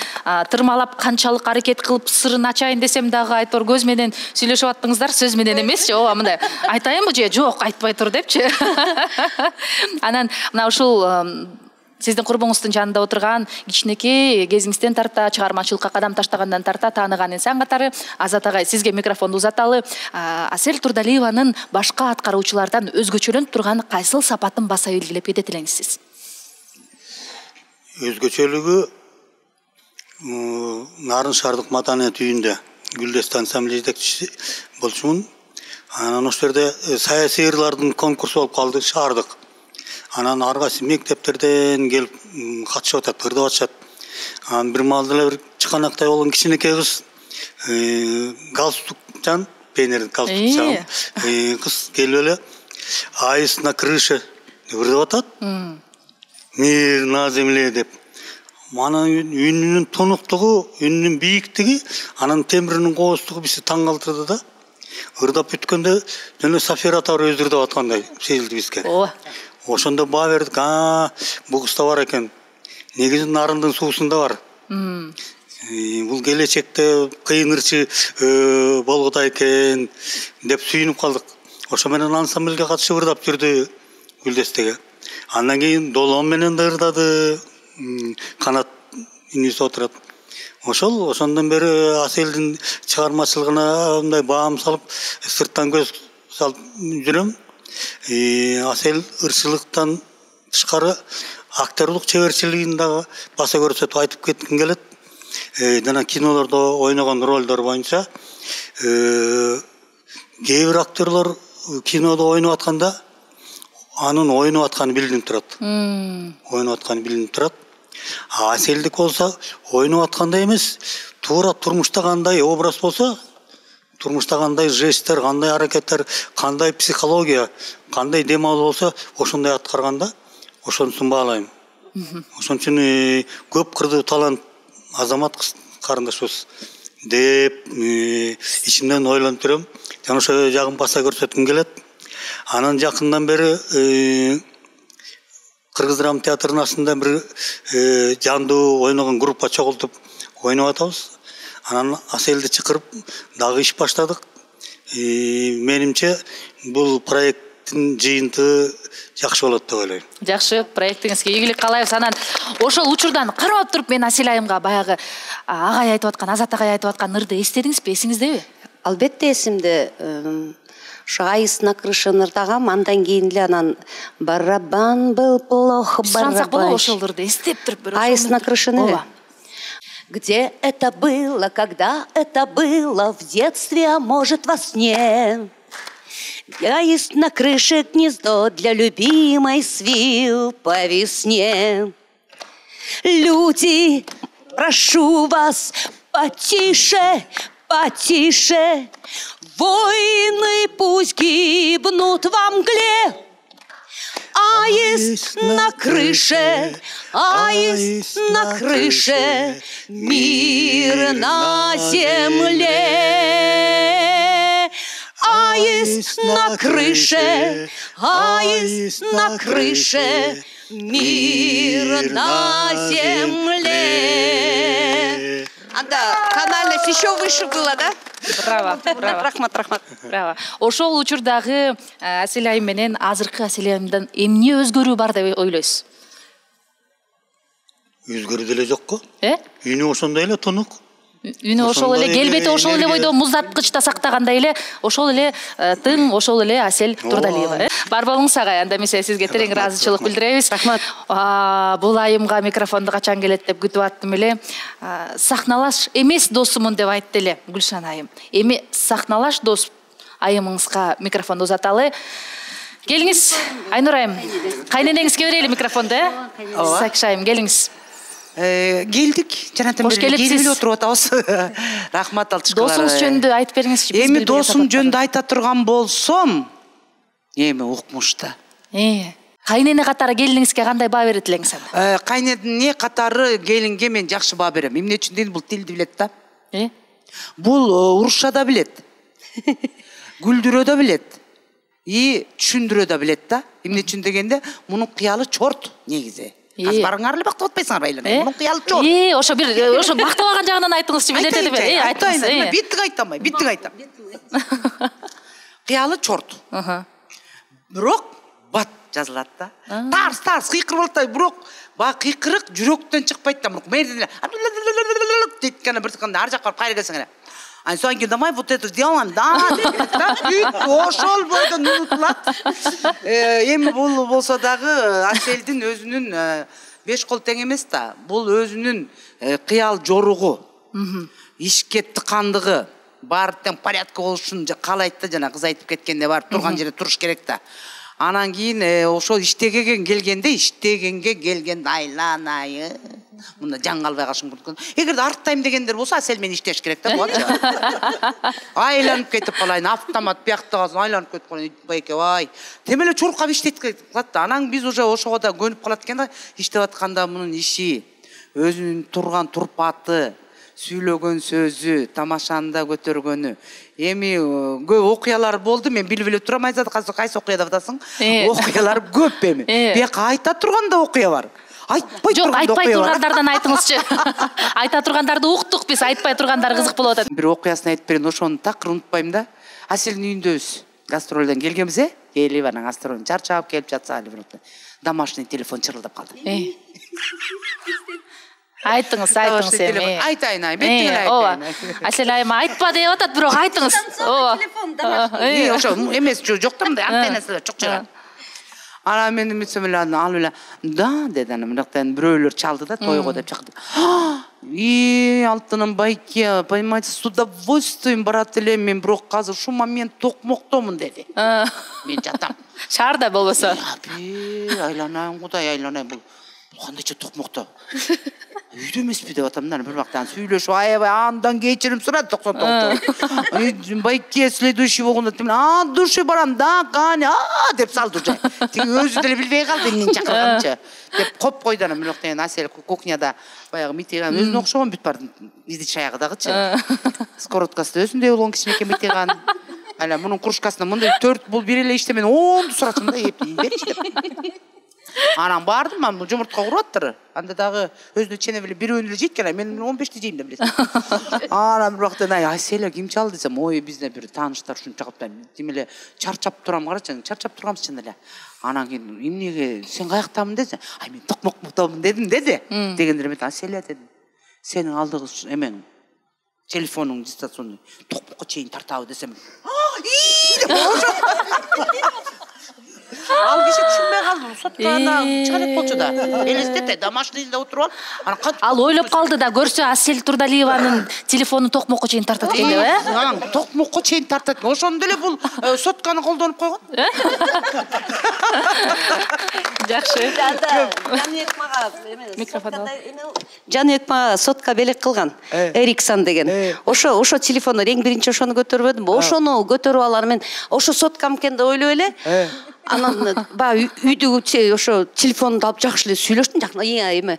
тырмалап, канчалык аракет кылып сырын ачайын десем дагы айтор көз менен сүйлөшүп аттыңыздар, сөз менен эмесчи. Ооба, мындай айтайынбы же жок, айтпай тур депчи. Анан мына ушул сиздин курбуңуздун жанында отурган кичинекей кезиңизден тарта, чыгармачылыкка кадам таштагандан тарта тааныган инсан катары Азат агай, сизге микрофонду узаталы. Асел Турдалиеванын башка аткаруучулардан өзгөчөлөнүп турган кайсыл сапатын баса белгилеп кететилеңиз? Өзгөчөлүгү Нарын шаардык матанет үйүндө Гүлдестан ассамблея жетекчиси болчумун. Анан ошол жерде саясий ырлардын конкурсу болуп калды, шаардык. Анан ар кайсы мектептерден келип катышып атат, ырдап атышат. Анан бир маалда эле бир чыканактай болгон кичинекей кыз, галстукчан, пионер галстукчан кыз келип эле «Аист на крыше» деп ырдап атат. «Мир на земле» деп. Анан үнүнүн тонуктугу, үнүнүн бийиктиги, анан тембиринин кооздугу бизди таң калтырды да. Ырдап бүткөндө жана Сафира Атар өзү ырдап аткандай сезилди бизге. Ошондо баа бердик, а бул кызда бар экен. Негизи нарындын суусунда бар. Бул келечекте кыйын ырчы болгода экен деп сүйүнүп калдык. Ошо менен ансамбльге катышып ырдап жүрдү Гүлдестеге. Андан кийин Долом менен да ырдады. Канат инүүсү отурат. Ошол ошондон бери Аселдин чыгармачылыгына мындай баам салып, сырттан көз салып жүрөм. Асел ырчылыктан тышкары актердук чеберчилигин дагы баса көрсөтүп айтып кетким келет. Жана кинолордо ойногон ролдор боюнча кээ бир актерлор кинодо ойноп атканда анын ойноп атканы билинип турат. Ойноп атканы билинип турат. Аселдик болсо ойноп аткандай эмес, туура турмушта кандай образ болсо, турмушта кандай жесттер, кандай аракеттер, кандай психология, кандай дем алуу болсо, ошондой аткарганда ошонусун баалайм. Ошон үчүн көп кырдуу талант азамат карындашыбыз деп ичимден ойлонуп жүрөм. Жана ошо жагын баса көрсөткүм келет. Анан жакындан бери Кыргыз драма театрынын астында бир жандуу ойногон группа чогултуп ойноп атабыз. Анан Аселди чакырып дагы иш баштадык. Менимче бул проекттин жыйынтыгы жакшы болот деп ойлойм. Жакшы, проектиңизге ийгилик каалайбыз. Анан ошол учурдан карап туруп мен Асел айымга баягы агай айтып аткан, Азат агай айтып аткан ырды эстедиңизби, эсиңиздеби? Албетте эсимде. Ошо «Аист на крыше» ырдагам, андан кийин эле анан «Барабан был плохо, барабан». Ошол ырды эстеп туруп бир. «Аист на крыше» эле. Где это было, когда это было, в детстве, а может во сне? Аист на крыше гнездо для любимой свил по весне. Люди, прошу вас, потише, потише, воины пусть гибнут во мгле. Аист на крыше, аист на крыше, мир на земле. Аист на крыше, аист на крыше, мир на земле. Анда канальность еще выше было, да? Браво, браво. Рахмат, рахмат. Браво. Ошол учурдагы Асел айым менен азыркы Асел айымдан эмне өзгөрүү бар деп ойлойсуз? Өзгөрүү деле жокко. Э? Үнү ошондой эле, тонук. Үнү ошол эле, келбети ошол эле бойдо муздаткычта сактагандай эле, ошол эле тың, ошол эле Асел Турдалиева. Бар болуңуз агай, анда эмесе сизге терең ыраазычылык билдиребиз. Рахмат. Бул айымга микрофонду качан келет деп күтүп аттым эле. Сахналаш эмес досумун деп айтты эле Гүлшан айым. Эми сахналаш дос айымыңызга микрофонду узаталы. Келиңиз, Айнур айым. Кайненеңизге берели микрофонду, э? Сакиш айым, келиңиз. Келдик, жанатан бери келип эле отуруп атабыз. Рахмат Алтышкалар. Досуңуз жөнүндө айтып бериңизчи. Эми досум жөнүндө айта турган болсом, эми укмушта. Э, кайнене катары келиниңизге кандай баа берет элеңиз анда? Кайнене катары келинге мен жакшы баа берем. Эмне үчүн дейм, бул тилди билет да. Э? Бул урушса да билет. Күлдүрө да билет. И түшүндүрө да билет да. Эмне үчүн дегенде, мунун кыялы чорт негизи. Аз барыңар эле бактап атпайсыңар байлар. Мунун кыялы чорт. Э, ошо бир ошо бактап алган жагынан айтыңызчы, билет эди. Э, айтыңыз. Биттик айтамай, биттик айтам. Кыялы чорт. Бирок бат жазылат да. Тарс тарс кыйкырып атат, бирок баягы кыйкырык жүрөктөн чыкпайт да. Мэрден эле дейт гана бир секунд ар жакка барып кайра келсең эле. Ан соң кийин давай вот это сделаем, да, да, ошол бойдон унутулат. Эми бул болсо дагы Аселдин өзүнүн беш кол тең эмес да. Бул өзүнүн кыял жоругу, ишке тыкандыгы, баары тең порядка болушун каалайт да, жана кыз айтып кеткенде барып турган жерде туруш керек да. Анан кийин ошол иштегенге келгенде, иштегенге келгенде айланайы. Мында жан калбай калышым мүмкүн. Эгерде арттайм дегендер болсо, Асел мен иштеш керек да, болчу. Айланып кетип калайын, автомат биякта калсын, айланып кетип калайын, байке бай. Тем эле чуркап иштетип калат да. Анан биз уже ошого да көнүп калат экен да, иштеп атканда мунун иши, өзүнүн турган турпаты, сүйлөгөн сөзү, тамашаны көтөргөнү. Эми көп окуялар болду, мен билип эле турам, айзат кайсы окуяда атасың? Окуялар көп эми. Бияка айта турганда окуя бар. Айтпай Жок, айтпай тургандардан айтыңызчы. Айта тургандарды уктук биз, айтпай тургандар кызык болуп атат. Бир окуясын айтып берейин, ошону такыр унутпайм да. Аселдин үйүндөбүз. Гастролдон келгенбиз, э? Келип анан гастролдон чарчап келип жатса, домашний телефон чырылдап калды. Айтыңыз, айтыңыз эми. Айтайын, ай, беттиңер айтайын. Асел айыма айтпа деп атат, бирок айтыңыз. Ооба. Ошо эмес, жок да, мындай антеннасы чок чыгат. Анан мен үмүтсөм эле алып эле, да, деди анан мындактан бирөөлөр чалды да, тойго деп чакырды. И алтыным байке, понимаете, с удовольствием барат элем, мен бирок азыр ушул момент токмоктомун деди. Мен жатам. Шаарда болбосо. Айланайын, Кудай айланайын, бул кандайча токмокто. Үйдө эмеспи деп атам да, бир убактан сүйлөшүп, аябай андан кечирим сурат токсон тогузда. Байке следующий болгондо мен а душе барам да, кане, а деп салды уже. Тиги өзү деле билбей калды эмнени чакырганчы. Деп коп койду анан бир убактан Асел кухняда баягы митиган өзүнө окшогон бүт бар иди чаягы дагычы. Скороткасы өзүндөй болгон кичинекей митиган. Ана мунун кружкасына мындай төрт бул бир эле иште мен онду суратым да, эп берчи деп. Анан бардым, мен жумуртка куруп аттыр. Анда дагы өзүнө чене биле бирөөнү эле жейт экен, мен он бешти жейм деп билесиң. Анан бир убактан Аселя ким чалды десем, ой, бизде бир тааныштар ушунча кылып, тим эле чарчап турам, карачы, чарчап турганбыз чын эле. Анан кийин эмнеге сен каяктамын десе, ай мен токмоктомун дедим деди. Дегенде мен Аселя дедим. Сенин алдыгы эмең телефонуң дистанционный токмокко чейин тартабы десем. Ал киши түшүнбөй калды. Сотканда чыга элек болчу да. Элестете, домашнийде отуруп алып, анан ал ойлоп калды да, көрсө Асел Турдалиеванын телефонун токмокко чейин тартат экен деп, э? Анан токмокко чейин тартат. Ошондо эле бул сотканы колдонуп койгон. Жакшы. Жаныбек мага микрофон ал. Жаныбек мага сотка белек кылган. Эриксон деген. Ошо ошо телефону эң биринчи ошону көтөрбөдүм. Ошону көтөрүп алар мен ошо соткам экен деп ойлоп эле. Анан баягы үйдөгү ошо телефонду алып жакшы эле сүйлөштүм, жакна эме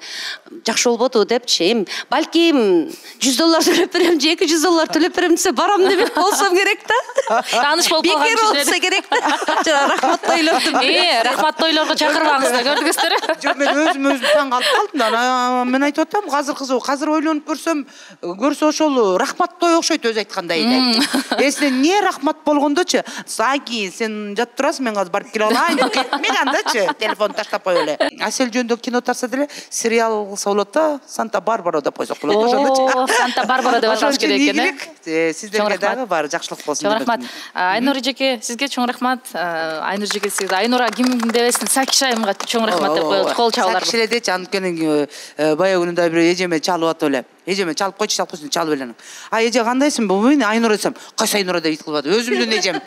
жакшы болбоду депчи. Эми балким жүз доллар төлөп берем же эки жүз доллар төлөп берем десе барам деп болсом керек да. Тааныш болуп калган бекер болсо керек да. Рахмат ойлоптум. Э, рахмат тойлорго чакырбаңыздар, көрдүңүздөр. Жок, мен өзүм өзүм таң калып калдым да. Мен айтып атам, азыр кызы, азыр ойлонуп көрсөм, көрсө ошол рахмат той окшойт өзү айткандай дейт. Эсине не рахмат болгондочу, Саки, сен жат турасың, мен азыр барып келе алайын. Мен андачы телефон таштап коюп эле. Асел жөнүндө кино тарса деле сериал кылса болот да, Санта Барбара деп койсок болот ошондочу. Санта Барбара деп аташ керек экен, э? Сиздерге дагы бар жакшылык болсун. Чоң рахмат. Айнур эжеке, сизге чоң рахмат. Айнур эжеке, сиз Айнура ким дебесин, Сакиш айымга чоң рахмат деп коет. Кол чабуулар. Сакиш эле дечи, анткени баягы күнүндө бир эжеме чалып атып эле. Эжеме чалып койчу, чалып койсун, чалып эле. А эже кандайсың? Бу мен Айнура десем, кайсы Айнура деп ит кылып атат. Өзүмдүн эжем.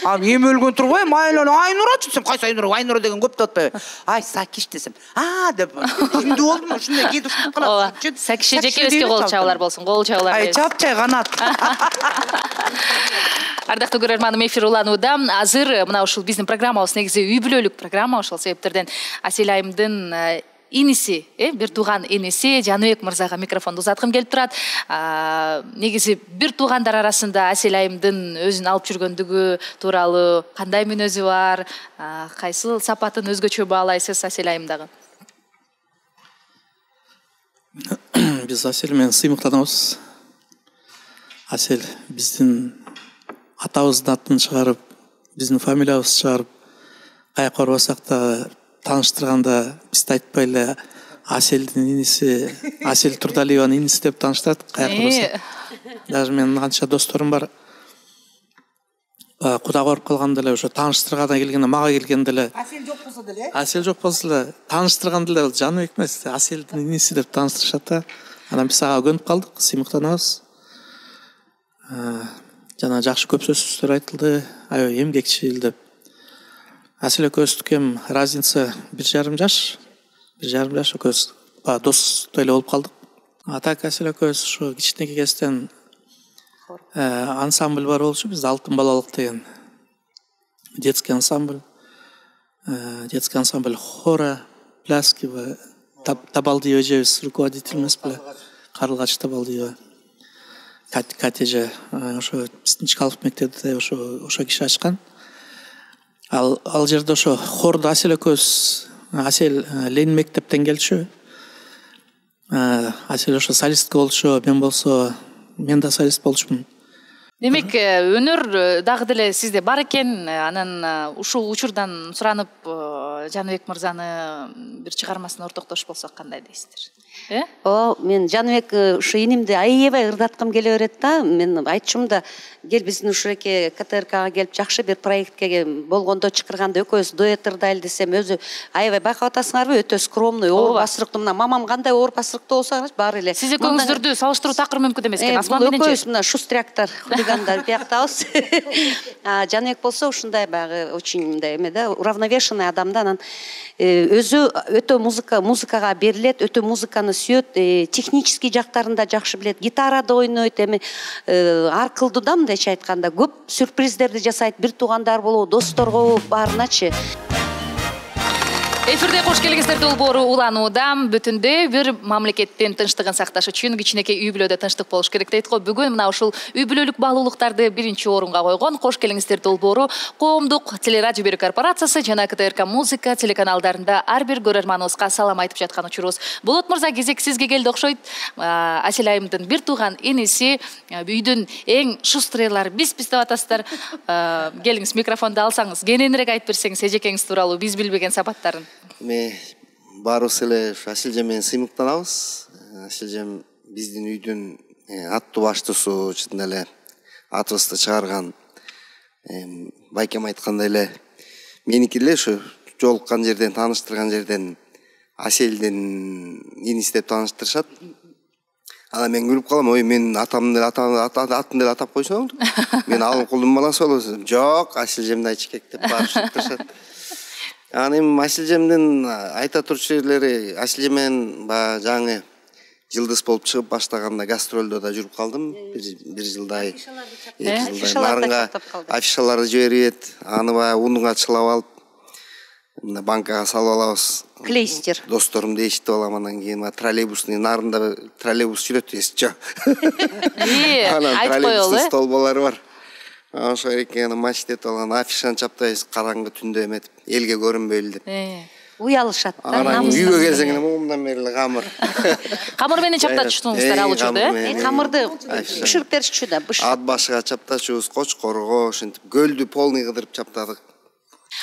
А эми өлгөн турбайбы? Айлан Айнурачы десем, кайсы Айнура? Айнура деген көп деп атпайбы? Ай, Сакиш десем. А деп. Түшүндү болдум, ушундай кээде ушинтип калат. Сакиш эжекебизге кол чабуулар болсун. Кол чабуулар. Ай, чапчай канат. Ардактуу көрөрманым, эфир уланууда. Азыр мына ушул биздин программабыз негизи үй бүлөлүк программа, ошол себептерден Асел айымдын иниси, э, бир тууган иниси Жаныбек мырзага микрофонду узаткым келип турат. Негизи бир туугандар арасында Асел айымдын өзүн алып жүргөндүгү тууралуу кандай мүнөзү бар, кайсыл сапатын өзгөчө баалайсыз Асел айымдагы? Биз Асел менен сыймыктанабыз. Асел биздин атабыздын атын чыгарып, биздин фамилиябызды чыгарып, каяка барбасак да тааныштырганда бизди айтпай эле Аселдин иниси, Асел Турдалиеванын иниси деп тааныштырат, каяка барбасак. Даже менин канча досторум бар. Куда барып калганда эле ошо тааныштырганда келгенде, мага келгенде эле Асел жок болсо деле, Асел жок болсо эле тааныштырганда эле Жаныбек эмес, Аселдин иниси деп тааныштырышат да. Анан биз ага көнүп калдык, сыймыктанабыз. жана жакшы көп сөздөр айтылды, аябай эмгекчил деп. Асель экөөбүздүкү эми разница бир жарым жаш, бир жарым жаш экөөбүз баягы достой эле болуп калдык. А так Асель экөөбүз ушу кичинекей кезден ансамбль бар болчу, бизде Алтын балалык деген детский ансамбль, детский ансамбль хора, пляски, Табалдиева эжебиз руководитель эмес беле, Карлыгач Табалдиева. Катя эже ошо биздин Чкалов мектебинде ошо ошо киши ачкан. Ал ал жерде ошо хорду Асель экөөбүз, Асель Ленин мектептен келчү. Асель ошо солистка болчу, мен болсо мен да солист болчумун. Демек, өнөр дагы деле сизде бар экен. Анан ушул учурдан суранып Жаныбек мырзаны бир чыгармасын ортоктош болсок кандай дейсиздер? Э? О, мен Жаныбек ушу инимди аябай ырдаткым келе берет да. Мен айтчумун да, кел биздин ушуреке КТРКга келип жакшы бир проектке болгондо чакырганда экөөбүз дуэт ырдайлы десем, өзү аябай байкап атасыңарбы, өтө скромный, оор басырыктуу. Мына мамам кандай оор басырыктуу болсо баары эле. Сиз экөөңүздөрдү салыштыруу такыр мүмкүн эмес экен. Асман мененчи. Экөөбүз мына шустряктар, хулигандар бияктабыз. А Жаныбек болсо ушундай баягы очень мындай эме да, уравновешенный адам да. Анан өзү өтө музыка музыкага берилет, өтө музыканы сүйөт, технический жактарын да жакшы билет, гитарада ойнойт, эми ар кылдуу да, мындайча айтканда көп сюрприздерди жасайт, бир туугандар болобу, досторго баарыначы. Эфирде кош келиңиздер долбоору уланууда. Бүтүндө бир мамлекеттин тынчтыгын сакташ үчүн кичинекей үй бүлөдө тынчтык болуш керек дейт го. Бүгүн мына ушул үй бүлөлүк баалуулуктарды биринчи орунга койгон кош келиңиздер долбоору коомдук телерадио берүү корпорациясы жана КТРК музыка телеканалдарында ар бир көрөрманыбызга салам айтып жаткан учурубуз. Болот мырза, кезек сизге келди окшойт. Асель айымдын бир тууган иниси, үйдүн эң шустрыйлары биз биз деп атасыздар. Келиңиз, микрофонду алсаңыз, кененирээк айтып берсеңиз эжекеңиз тууралуу биз билбеген сапаттарын. Ме баарыбыз эле Асель менен сыймыктанабыз. Асель биздин үйдүн аттуу баштуусу, чын эле атыбызды чыгарган. Байкем айткандай эле меники эле ушу жолуккан жерден, тааныштырган жерден Аселдин иниси деп тааныштырышат. Анан мен күлүп калам, ой, мен атамды атын деле атап койсоң, мен алым кулдун баласы болосун. Жок, Асель айчкек деп баарышат. Анан эми Асель айта турчу жерлери, Асель менен баягы жаңы жылдыз болуп чыгып баштаганда гастролдо да жүрүп калдым. Бир жылдай. Нарынга афишаларды жиберип, аны баягы унуга чылап алып, мына банкага салып алабыз. Клейстер. Досторум eshitип алам, анан кийин троллейбустун нарында троллейбус жүрөт, эсчи. Анан троллейбустун столболору бар. Ошо экен матчтеп алган афишаны чаптайбыз, караңгы түндө эметип, элге көрүнбөйлү деп. Уялышат да. Анан үйгө келсең эле мындан бери эле камыр. Камыр менен чаптачусуңуздар ал учурда, э? Камырды бышырып беришчү да, быш. Ат башыга чаптачубуз, Кочкорго, ошентип гөлдү полный кыдырып чаптадык.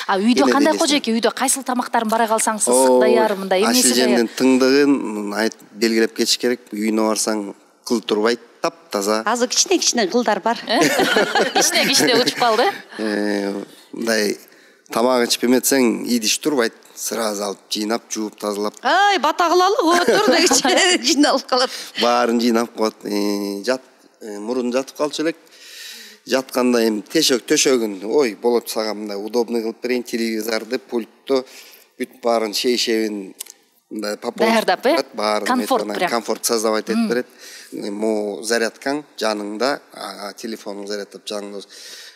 А үйдө кандай кожеке, үйдө кайсыл тамактарын бара калсаңыз ысык даяр, мындай эмеси даяр? Аселдин тыңдыгын айтып белгилеп кетиш керек. Үйүнө барсаң кыл турбайт, таптаза. Азыр кичине-кичине кылдар бар. Кичине-кичине учуп калды. Мындай тамак ичип эметсең, идиш турбайт. Сразу алып жыйнап, жууп, тазалап. Ай, бата кылалы, отур дегичи жыйналып калат. Баарын жыйнап коет. Жат, мурун жатып калчу элек. Жатканда эми тешөк төшөгүн, ой, болот сага мындай удобный кылып берейин, телевизорду, пультту, бүт баарын шейшебин мындай даярдап, э? Комфорт прям. Комфорт создавать этип берет. Мо зарядкаң жаныңда, телефонуң зарядтап жаныңда.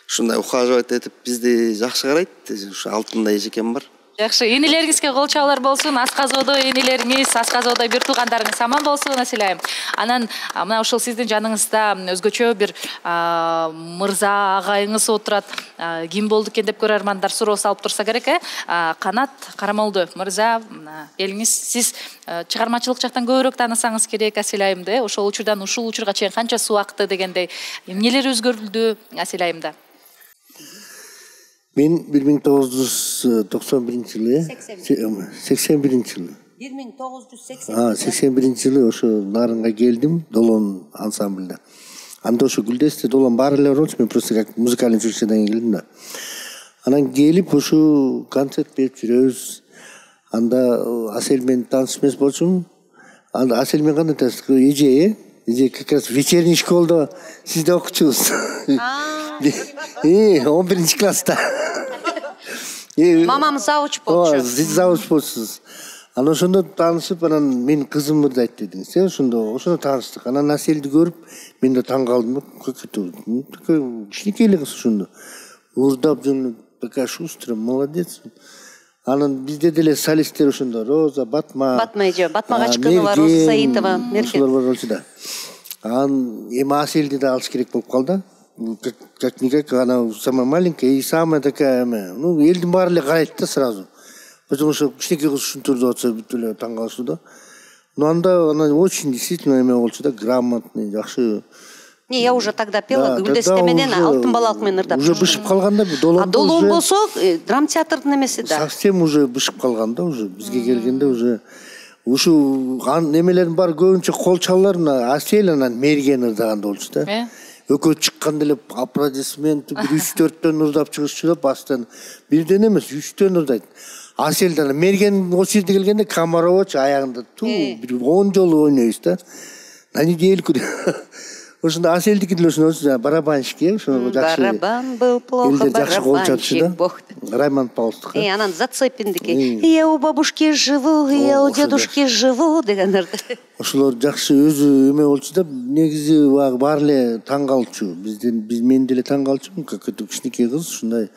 Ушундай ухаживать этип бизди жакшы карайт. Ушу алтындай эжекем бар. Жакшы, энелериңизге кол чабуулар болсун, асказоодо энелериңиз, асказоодо бир туугандарыңыз аман болсун, Асель айым. Анан мына ушул сиздин жаныңызда өзгөчө бир мырза агайыңыз отурат. Ким болду экен деп көрөрмандар суроо салып турса керек, э? Канат Карамолду мырза, келиңиз, сиз чыгармачылык жактан көбүрөөк таанысаңыз керек Асель айымды. Ошол учурдан ушул учурга чейин канча убакыт дегендей эмнелер өзгөрүлдү Асель айымда? Мен бир миң тогуз жүз токсон биринчи жылы, сексен биринчи жылы. бир миң тогуз жүз сексен биринчи жылы ошо Нарынга келдим, Долон ансамбльда. Анда ошо Гүлдесте Долон баары эле болчу, мен просто как музыкальный училищеден келдим да. Анан келип ошо концерт берип жүрөбүз. Анда Асель менен тааныш эмес болчумун. Анда Асель менен кандай тааныштык? Эже, Эже как раз вечерний школда сизде окучубуз. Э, он биринчи класста. Мамам завуч болчу. Сиз завуч болсуз. Анан ошондо таанышып, анан менин кызымды айтты дедиңиз. Ошондо ошондо тааныштык. Анан Аселди көрүп, мен да таң калдым. Кичинекей эле кыз ошондо. Уурдап жөнүп, такая шустрая, молодец. Анан бизде деле солисттер ошондо Роза, Батма. Батма эже, Батма Качкынова, Роза Саитова, Меркен. Ошолор бар болчу да. Анан эми Аселди да алыш керек болуп калды. Как никак, она самая маленькая и самая такая, ну, элдин баары эле карайт да сразу. Потому что кичинекей кыз ушинтип атса бүт эле таң калышты да. Но анда она очень действительно эме болчу да, грамотный, жакшы. Не, я уже тогда пела, Гүлдесте менен Алтын балалык менен ырдап. Уже бышып калганда долон. А долон болсо, драм театрдын эмеси да. Совсем уже бышып калганда, уже бизге келгенде уже ушу немелердин баары көбүнчө кол чалуулар мына Асел анан Мерген ырдаганда болчу да. Экөө чыкканда эле аплодисмент бир үч төрттөн ырдап чыгышчу да, бастан бирден эмес, үчтөн ырдайт. Аселден Мерген ошол жерде келгенде Комарович аягында ту бир он жолу ойнойбуз да. На недельку. Ошондо Аселдики деле ошондо барабанщик, ошондо жакшы. Барабан был плохо, барабанщик бог. Раймонд Паулстук. И анан Зацепиндики. Я у бабушки живу, я у дедушки живу дегендерди. Ошолор жакшы өзү эме болчу да, негизи баары эле таң калчу. Бизден биз мен деле таң калчумун, какой-то кичинекей кыз ушундай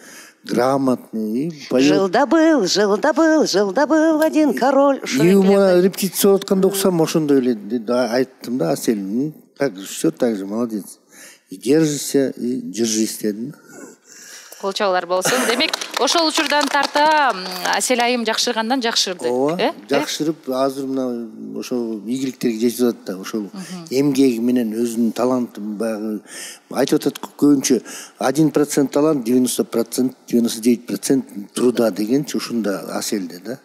грамотный. Жил-да был, жил-да был, жил-да был один король. И мына репетиция отканда окусам ошондой эле айттым да, Асель. Так, все так же, молодец. И держишься, и держись дедим. Кол чабуулар болсун. Демек, ошол учурдан тарта Асел айым жакшыргандан жакшырды. Ооба, жакшырып, азыр мына ошол ийгиликтерге жетип атат да, ошол эмгеги менен өзүнүн талантын баягы айтып атат көбүнчө один процент талант, девяносто процент, девяносто девять процент труда дегенчи ушунда Аселде да.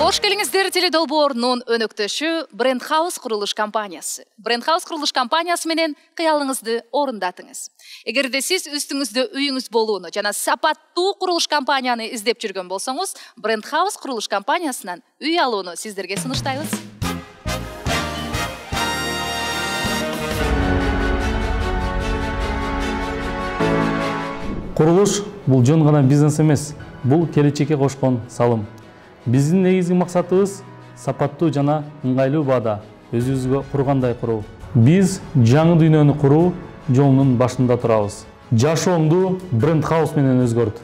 Кош келиңиздер теледолбоорунун өнөктөшү Бренд Хаус курулуш компаниясы. Бренд Хаус курулуш компаниясы менен кыялыңызды орундатыңыз. Эгерде сиз үстүңүздө үйүңүз болууну жана сапаттуу курулуш компанияны издеп жүргөн болсоңуз, Бренд Хаус курулуш компаниясынан үй алууну сиздерге сунуштайбыз. Курулуш бул жөн гана бизнес эмес, бул келечекке кошкон салым. Биздин негизги максатыбыз сапаттуу жана ыңгайлуу баада өзүбүзгө кургандай куруу. Биз жаңы дүйнөнү куруу жолунун башында турабыз. Жашоомду Бренд Хаус менен өзгөрт.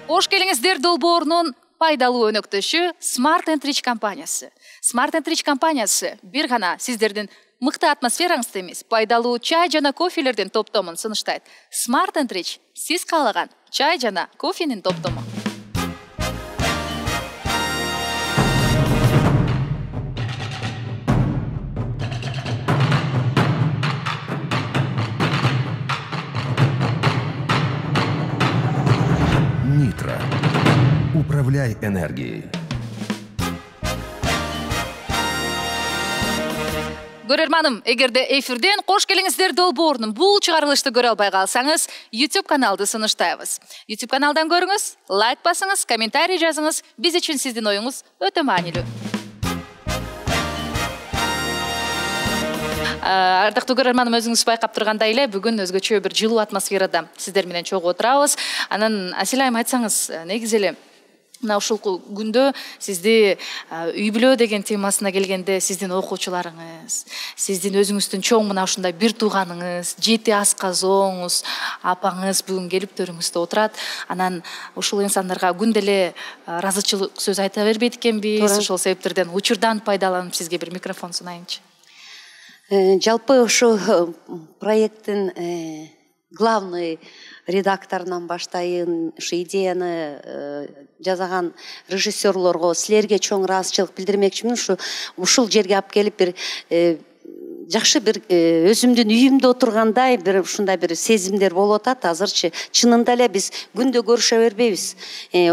Кош келиңиздер долбоорунун пайдалуу өнөктөшү Smart and Rich компаниясы. Smart and Rich компаниясы бир гана сиздердин мыкты атмосфераңызды эмес, пайдалуу чай жана кофелердин топтомун сунуштайт. Smart and Rich сиз каалаган чай жана кофенин топтому. Нитро. Управляй энергией. Көрөрманым, эгерде эфирден кош келиңиздер долбоорунун бул чыгарылышты көрө албай калсаңыз, YouTube каналды сунуштайбыз. YouTube каналдан көрүңүз, лайк басыңыз, комментарий жазыңыз. Биз үчүн сиздин оюңуз өтө маанилүү. Ардактуу көрөрманым, өзүңүз байкап тургандай эле, бүгүн өзгөчө бир жылуу атмосферада сиздер менен чогуу отурабыз. Анан Асель айым айтсаңыз, негизи эле мына ушул күндө сизди үй бүлө деген темасына келгенде сиздин окуучуларыңыз, сиздин өзүңүздүн чоң мына ушундай бир тууганыңыз, жети асказооңуз, апаңыз бүгүн келип төрүңүздө отурат. Анан ушул инсандарга күндө эле ыраазычылык сөз айта бербейт экенбиз. Ошол себептерден учурдан пайдаланып сизге бир микрофон сунайынчы. Жалпы ушу проекттин главный редакторунан баштайын, ушу идеяны жазаган режиссерлорго, силерге чоң ыраазычылык билдирмекчимин. Ушу ушул жерге алып келип бир жакшы бир өзүмдүн үйүмдө отургандай бир ушундай бир сезимдер болуп атат азырчы. Чынында эле биз күндө көрүшө бербейбиз.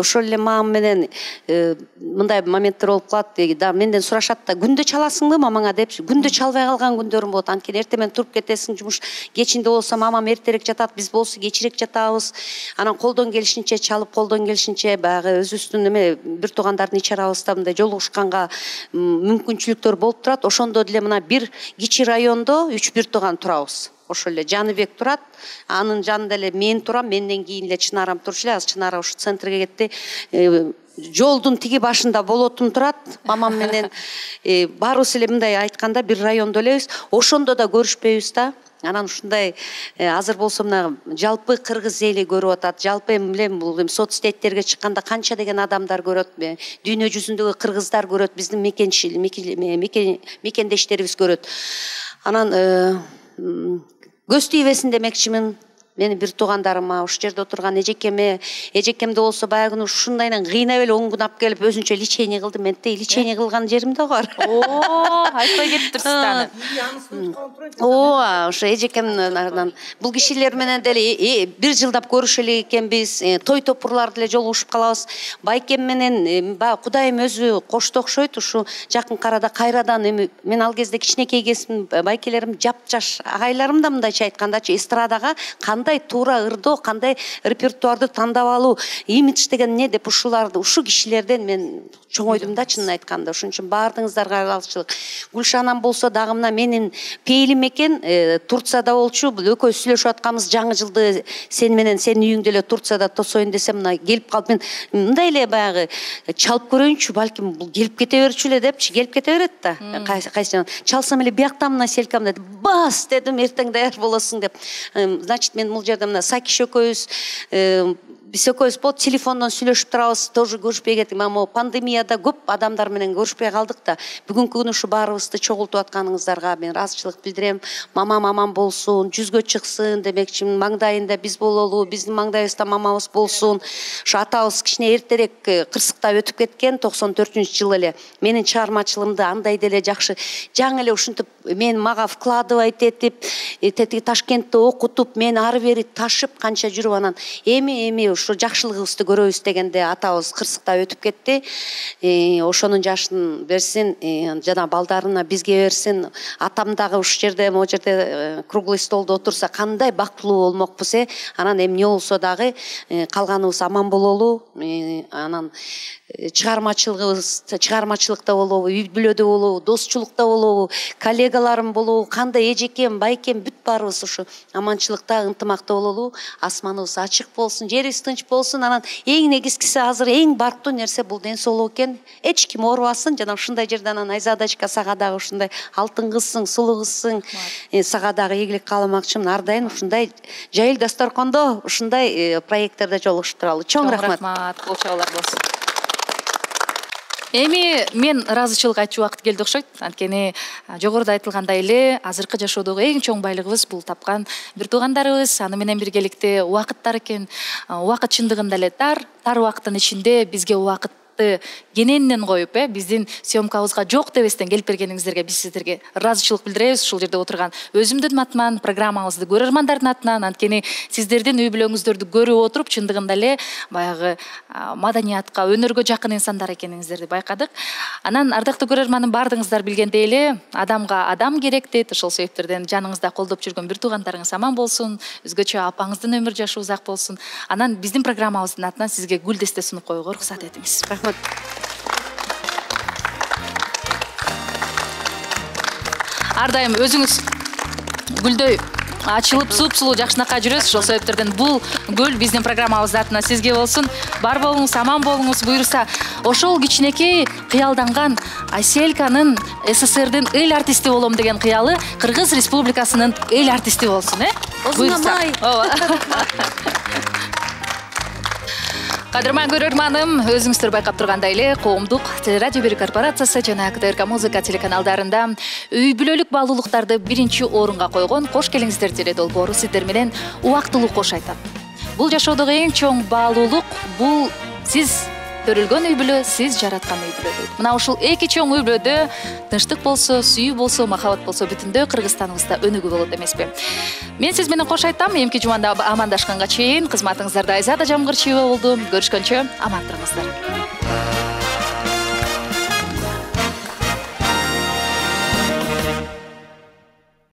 Ошол эле мамам менен мындай моменттер болуп калат. Да менден сурашат да, күндө чаласыңбы мамаңа депчи. Күндө чалбай калган күндөрүм болот. Анткени эртең менен туруп кетесиң, жумуш кечинде болсо мамам эртерээк жатат, биз болсо кечирээк жатабыз. Анан колдон келишинче чалып, колдон келишинче баягы өзүбүздүн эме бир туугандардын ич арабызда мындай жолугушканга мүмкүнчүлүктөр болуп турат. Ошондо деле мына бир кичи райондо үч бир тууган турабыз. Ошол эле Жаныбек турат, анын жанында эле мен турам, менден кийин эле Чынарам турчу эле. Азыр Чынара ушу центрге кетти. Жолдун тиги башында болотум турат. Мамам менен баарыбыз эле мындай айтканда бир райондо элебиз. Ошондо да көрүшпөйбүз да. Анан ушундай азыр болсо мына жалпы кыргыз эли көрүп атат. Жалпы эми билем бул соцсеттерге чыкканда канча деген адамдар көрөт. Дүйнө жүзүндөгү кыргыздар көрөт, биздин мекенчил мекендештерибиз көрөт. Анан көз тийбесин демекчимин. Мени бир туугандарыма, ушу жерде отурган эжекеме, эжекемде болсо баягы ушундайдан кыйнап эле он күн алып келип өзүнчө лечение кылды. Менде лечение кылган жерим да бар. Оо, айтпай кетиптирсиз да. Ооба, ошо эжекемден бул кишилер менен деле бир жылдап көрүшө элек экенбиз. Той топурларды эле жолугушуп калабыз. Байкем менен баягы Кудайым өзү кошто окшойт. Ушу жакын арада кайрадан эми мен ал кезде кичинекей кезим, байкелерим жап-жаш агайларым да мындайча айткандачы эстрадага кандай туура ырдоо, кандай репертуарды тандап алуу, имидж деген эмне деп ушуларды, ушу кишилерден мен чоңойдум да чынын айтканда. Ошон үчүн баардыгыңыздарга алгычылык. Гүлшанам болсо дагы мына менин пейилим экен, Турцияда болчу. Бул экөөбүз сүйлөшүп атканбыз жаңы жылды сен менен сенин үйүңдө эле Турцияда тосоюн десем, мына келип калып мен мындай эле баягы чалып көрөйүнчү, балким бул келип кете берчү эле депчи, келип кете берет да. Кайсы чалсам эле бияктан мына селкам деди. Бас дедим, эртең даяр болосуң деп. Значит, мен бул жерде мына Сакиш экөөбүз биз экөөбүз болот телефондон сүйлөшүп турабыз, тоже көрүшпөй кеттик. Мына пандемияда көп адамдар менен көрүшпөй калдык да. Бүгүнкү күнү ушу баарыбызды чогултуп атканыңыздарга мен ыраазычылык билдирем. Мамам аман болсун, жүзгө чыксын демекчимин. Маңдайында биз бололу, биздин маңдайыбызда мамабыз болсун. Ушу атабыз кичине эртерээк кырсыктап өтүп кеткен токсон төртүнчү жылы эле. Менин чыгармачылыгымды андай деле жакшы, жаңы эле ушинтип мен мага вкладывать этип, тетиги Ташкентте окутуп, мен ары бери ташып канча жүрүп анан эми эми ушу жакшылыгыбызды көрөбүз дегенде атабыз кырсыктап өтүп кетти. Ошонун жашын берсин, жана балдарына бизге берсин. Атам дагы ушу жерде, могу жерде круглый столдо отурса кандай бактылуу болмокпуз э. Анан эмне болсо дагы калганыбыз аман бололу. Анан чыгармачылыгыбыз чыгармачылыкта болобу, үй бүлөдө болобу, достчулукта болобу, коллегаларым болобу, кандай эжекем, байкем бүт баарыбыз ушу аманчылыкта, ынтымакта бололу. Асманыбыз ачык болсун, жерибиз тынч болсун. Анан эң негизгиси азыр эң бартуу нерсе бул ден соолук экен. Эч ким оорубасын. Жана ушундай жерде анан Айзадачка сага дагы ушундай алтын кызсың, сулуу кызсың. Сага дагы ийгилик кааламакчымын. Ар дайым ушундай жайыл дасторкондо ушундай проекттерде жолугушуп туралы. Чоң рахмат. Рахмат. Кол чабуулар болсун. Эми мен ыраазычылык айтчу убакыт келди окшойт. Анткени жогоруда айтылгандай эле азыркы жашоодогу эң чоң байлыгыбыз бул тапкан бир туугандарыбыз, аны менен биргеликте убакыттар экен. Убакыт чындыгында эле тар, тар убакыттын ичинде бизге убакыт кененинен коюп, э, биздин съемкабызга жок дебестен келип бергениңиздерге биз сиздерге ыраазычылык билдиребиз. Ушул жерде отурган өзүмдүн атыман, программабызды көрөрмандардын атынан, анткени сиздердин үй бүлөңүздөрдү көрүп отуруп чындыгында эле баягы маданиятка, өнөргө жакын инсандар экениңиздерди байкадык. Анан ардактуу көрөрманым, баардыгыңыздар билгендей эле адамга адам керек дейт. Ошол себептерден жаныңызда колдоп жүргөн бир туугандарыңыз аман болсун, өзгөчө апаңыздын өмүр жашы узак болсун. Анан биздин программабыздын атынан сизге гүл десте сунуп коюуга уруксат этиңиз. Ар дайым өзүңүз гүлдөй ачылып суп-сулуу жакшынакай жүрөсүз. Ошол себептерден бул гүл биздин программабыздын атынан сизге болсун. Бар болуңуз, аман болуңуз. Буюрса, ошол кичинекей кыялданган Айсельканын СССРдин эл артисти болом деген кыялы Кыргыз Республикасынын эл артисти болсун, э? Буюрса. Кадырман көрөрманым, өзүңүздөр байкап тургандай эле коомдук телерадио берүү корпорациясы жана КТРК музыка телеканалдарында үй бүлөлүк баалуулуктарды биринчи орунга койгон Кош келиңиздер теле долбоору сиздер менен убактылуу кош айтат. Бул жашоодогу эң чоң баалуулук, бул сиз төрөлгөн үй бүлө сиз жараткан үй бүлө дейт. Мына ушул эки чоң үй бүлөдө тынчтык болсо, сүйүү болсо, махабат болсо бүтүндөй Кыргызстаныбызда өнүгүү болот эмеспи? Мен сиз менен кош айтам. Эмки жуманда амандашканга чейин кызматыңыздарда Айзада Жамгырчиева болду. Көрүшкөнчө аман туруңуздар.